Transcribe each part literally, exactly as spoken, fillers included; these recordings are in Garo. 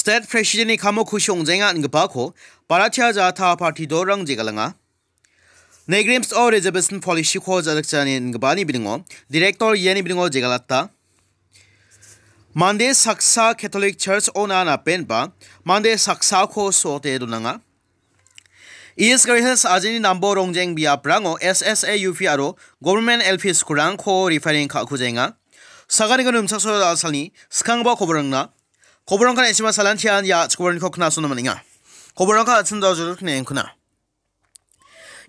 State President-ni kamo kusi ong·jaenga ingipako Bharatiya Janata Party dolrang jegalenga. Negrims o reservation policy-ko ja·dikjani ingipani bilingo Director iani bilingo jegalata. Mande saksa Catholic Church-ona napenba mande saksako so·ote donanga. East Garo Hills ajini Nambo Rongjeng biaprango S S A U P aro Government L P school-rangko repairing ka·kujaenga. Saganiko nimchaksoa da·salni skanggipa koborangna. Koborangkan esima salantian ia chikoborangko knasona man·enga. Koborangka atsin da jodok ne engkuna.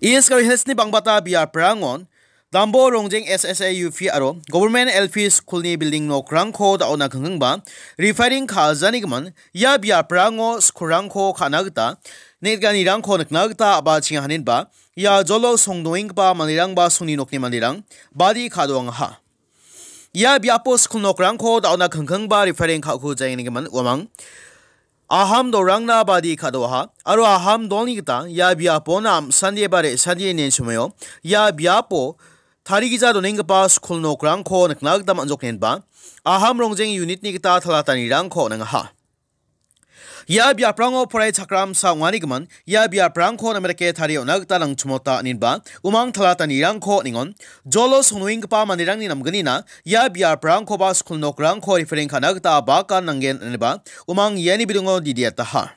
East Garo Hills-ni bangbata biaprangon Dambo Rongjeng S S A U P aro Government L P School-ni building nokrangko da·ona kengkengba repairing ka·janigimin ia biaprango school-rangko ka·na gita neng·giparangko nikna gita a·bachenga haninba ia jolo songdoenggipa manderangba songni nokni manderang badi ka·doangaha. Ia biapo skul nokrangko da·ona kengkengba repairing ka·kujaengnigimin uamang aham dolrangna badi ka·doaha aro aham dolni gita ia biapona am·sandi ba re·sandi ine chimoio ia biapo tarigija donenggipa skul nokrangko nikna gita man·joknenba aham rongjeng unit-ni gita talatanirangko on·angaha. Ia biaprango poraichakramsa ong·anigimin ia biaprangko name dake tarie on·na gita nangchimota, inenba umang talatanirangko on·engon. Jolo songnoenggipa manderangni namgnina ia biaprangkoba skul nokrangko repairing ka·na gita bakan nanggen, inenba umang iani bilingo didiataha.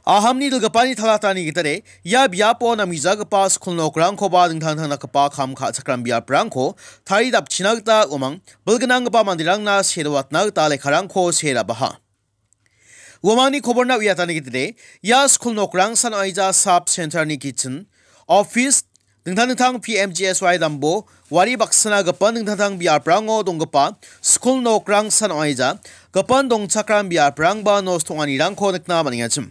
Ahamni dilgipani talatani gitade ia biapo namgijagipa skul nokrangkoba dingtang dingtang dakgipa kam ka·chakram biaprangko tarie dapchina gita uamang bilgnanggipa manderangna sedoatna gita lekkarangko see rabaha. Uamangni koborna uiatani gitade ia skul nokrangsan ong·aija sub center-ni kitchen, office, dingtang dingtang P M G S Y dambo wari baksana gipin dingtang dingtang biaprango donggipa skul nokrangsan ong·aija gipin dongchakram biaprangba nosto ong·anirangko nikna man·engachim.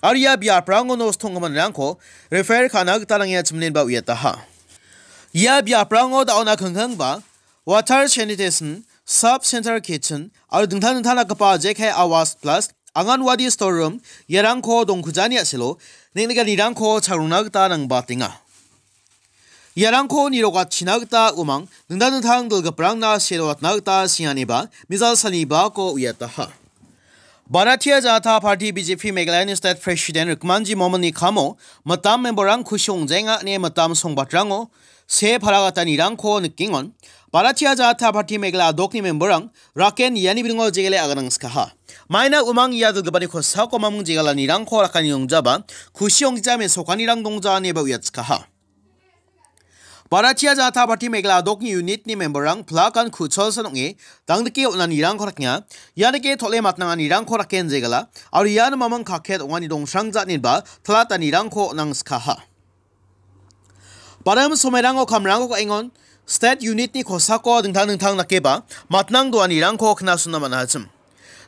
Aro ia biaprango nosto ong·giminrangko refer ka·na gita nangengachim inenba uiataha. Ia biaprango da·ona kengkengba water sanitation, sub center kitchen aro dingtang dingtang dakgipa J K Awas plus Anganwadi storeroom iarangko dongkujani a·selo neng·nikanirangko chagrongna gita nangbatenga. Iarangko nirokatchina gita uamang dingtang dingtang dilgiprangna sedoatna gita sianeba mijal salnibako uiataha. Bharatiya Janata Party B J P Meghalayani State President Rikmanji Momonni kamo mitam memberrang kusi ong·jaenga ine mitam songbatrango see paragatanirangko nikengon. Bharatiya Janata Party Meghalaya adokni memberrang raken iani bilingo jegele aganangskaha. Maina uamang ia dilgipani kosako mamung jegalanirangko rakani ongjaba kusi onggija mesokanirang dongja ineba uiatskaha. Bharatiya Janata Party Meghalaya adokni unit-ni memberrang plakan ku·cholsan ong·e dangdike on·anirangko rakenga. Ia dake tole matnanganirangko raken jegala aro ian mamung kaket ong·ani dongsrangja inenba talatanirangko on·angskaha. Barim somoirango kamrangko ka·engon state unit-ni kosako dingtang dingtang dakeba matnang doanirangko knasona man·achim.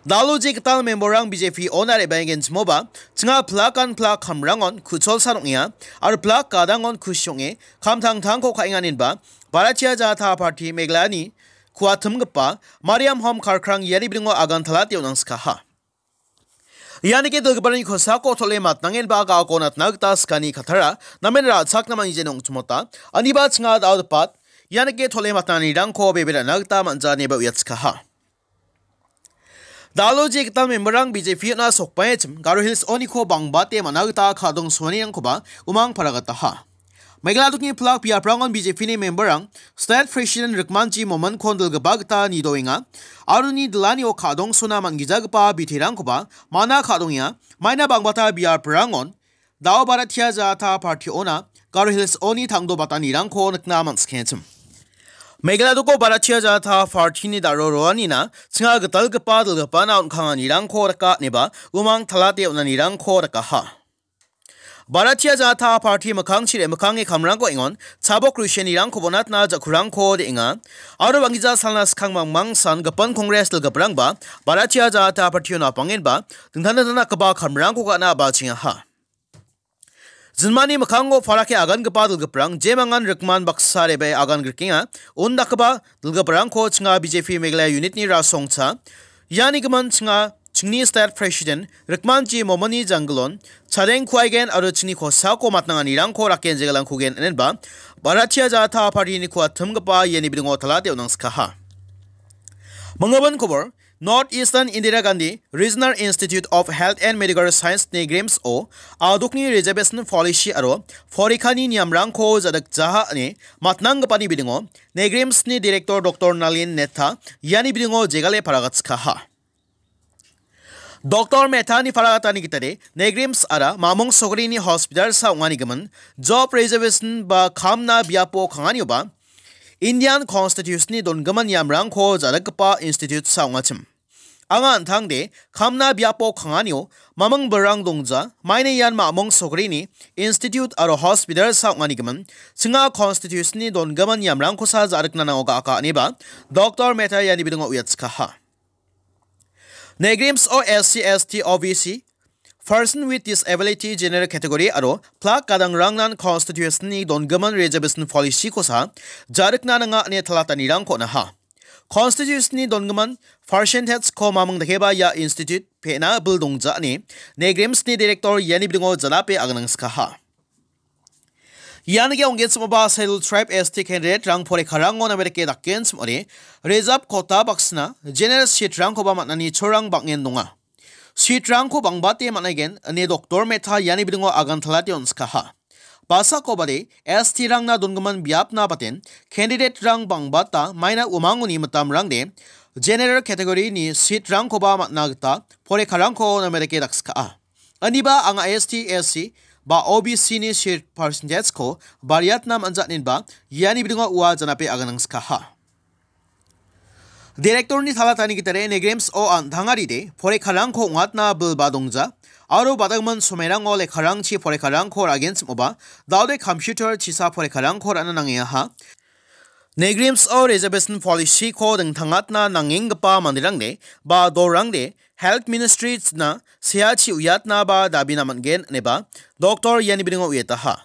Dalo je gital memberrang B J P ona re·baengenchimoba, chinga plakan plak kamrangon ku·cholsan ong·enga, aro plak gadangon kusi ong·e, kamtangtangko ka·enganinba, Bharatiya Janata Party Meghalayani kuatimgipa Mariam Home Karkrang iani bilingo agan talate on·angskaha. Ianike dilgiparangni kosako tole matnangenba ga·ako natna gita skani katara, namen ra·chakna man·gijeno ong·chimota, aniba chinga da·odepat, ianike tole matnanirangko bebe ra·na gita man·ja ineba uiatskaha. Dalo je gital memberrang B J P-ona sokbaengachim Garo Hills oniko bangbate man·a gita ka·dongsoanirangkoba umang paragataha. Meghalaya adokni plak biaprangon B J P-ni memberrang State President Rikmanji Momonkon dilgipa gita nidoenga, aro uni dilanio ka·dongsona man·gijagipa biterangkoba mana ka·dongenga, maina bangbata biaprangon Dao Bharatiya Janata Party-ona Garo Hills-oni tangdobatanirangko nikna man·sikengachim. Meghalaya doko Bharatiya Janata Party-ni daro roanina chinga gitalgipa dilgipana on·kanganirangko rika ineba umang talate on·anirangko rikaha. Bharatiya Janata Party mikkangchi re·mikkange kamrangko engon chabok rusianirangko bonatna ja·kurangko de·enga. Aro banggija salna skang mangmangsan gipin Congress dilgiprangba Bharatiya Janata Party-o napangenba dingtang dingtang dakgipa kamrangko ka·na a·bachengaha. Jinmani mikkango parake agangipa dilgiprang jemangan rikman baksa re·bae agan grikenga. Undakgipa dilgiprangko chinga B J P Meghalaya unit-ni rasongcha. Iani gimin chinga chingni state president Rikmanji Momoni janggilon chadeng kuaigen aro chingni kosako matnanganirangko raken jegalangkugen inenba Bharatiya Janata Party-ni kuatimgipa iani bilingo talate on·angskaha. Manggimin kobor, North Eastern Indira Gandhi Regional Institute of Health and Medical Science-ni NEIGRIHMS-o adokni reservation policy aro porikhani niamrangko ja·dikjaha ine matnanggipani bidingo NEIGRIHMS-ni Director Doctor Nalin Mehta iani bidingo jegale paragatskaha. Doctor Mehta-ni paragatani gitade NEIGRIHMS-ara mamung sogrini hospital-sa ong·anigimin job reservation ba kamna biapo kanganioba Indian Constitution-ni dongimin niamrangko ja·rikgipa institute-sa ong·achim. Anga an·tangde kamna biapo kanganio mamung bilrang dongja, maina ian mamung sogrini institute aro hospital-sa ong·anigimin chinga Constitution-ni dongimin niamrangkosa ja·rikna nango ga·aka ineba Doctor Mehta iani bidingo uiatskaha. NEIGRIHMS-o S C, S T, O B C, Person with Disability General Category aro plak gadangrangnan Constitution-ni dongimin reservation policy-kosa ja·rikna nanga ine talatanirangko on·aha. Constitution-ni dongimin percentage-ko mamung dakeba ia institute pe·na bil dongja ine NEIGRIHMS-ni Director iani bidingo janape aganangskaha. Ian ge ong·genchimoba Scheduled Tribe S T candidate-rang porikarango name dake dakgenchim ong·ode, reserve quota baksina general seat-rangkoba man·ani cholrang bang·en donga. Seat-rangko bangbate man·aigen ine Doctor Mehta iani bidingo agantalate on·skaha. Basakobade S T-rangna dongimin biapna baten candidate-rang bangbata maina umangoni mitamrangde general category-ni seat-rangkoba man·na gita porikarangko name dake dakska·a. Aniba anga S T, S C ba O B C-ni seat percentage-ko bariatna man·ja inenba iani bidingo ua janape aganangskaha. Director-ni talatani gitade NEIGRIHMS-o an·tangaride porikarangko ong·atna bilba dongja aro badangman somairango lekkarangchi porikarangko ra·genchimoba daode computer chisa porikarangko ra·na nangengaha. NEIGRIHMS-o reservation policy-ko dingtangatna nangenggipa manderangde ba dorangde Health Ministry-na seachi uiatnaba dabina man·gen ineba Doctor iani bidingo uiataha.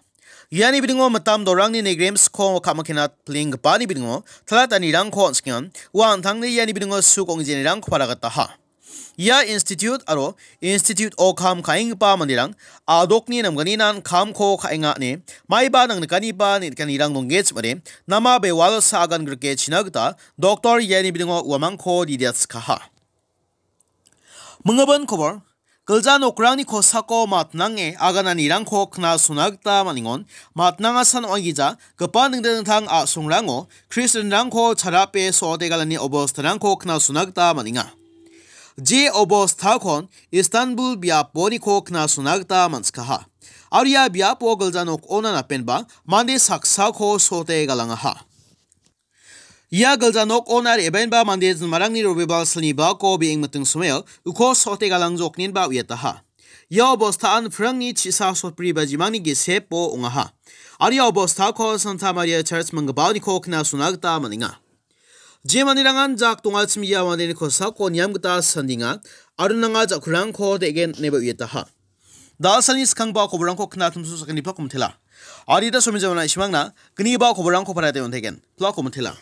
Iani bidingo mitam dorangni NEIGRIHMS-ko ka·makena pilenggipani bidingo talatanirangko on·skengan ua an·tangni iani bidingo suk ong·genirangko paragataha. Ia institute aro institute-o kam ka·enggipa manderang adokni namganinan kamko ka·enga ine maiba nangnikaniba neng·nikanirang donggechim ong·ode nama bewalsa agan grike china gita Doctor iani bidingo uamangko didiatskaha. Minggipa kobor, gilja nokrangni kosako matnange agananirangko knasona gita man·engon, matnangasan ong·aigija, gipa dingtang dingtang a·songrango Kristianrangko charape so·otegalani obostarangko knasona gita man·enga. Je obostakon Istanbul biaponiko knasona gita man·sikaha. Aro ia biapo gilja nokona napenba mande saksako so·otegalangaha. Ia gilja nokona re·baenba mande jinmarangni robebal silni bako be·eng miting somao uko so·otegalangjoknenba uiataha. Ia obostaan prangni chisa sotbri bajimangni gesepo ong·aha. Aro ia obostako Santa Maria Church minggipaoniko knasona gita man·enga. Je manderangan jak dongachim ia mandeni kosako niam gita sandenga aro nanga jakrangko de·gen ineba uiataha. Dalsalni skangba koborangko knatumsu sakgniba komtela. Adita somi jamana isimangna gniba koborangko parate on·taigen. Pla komtela.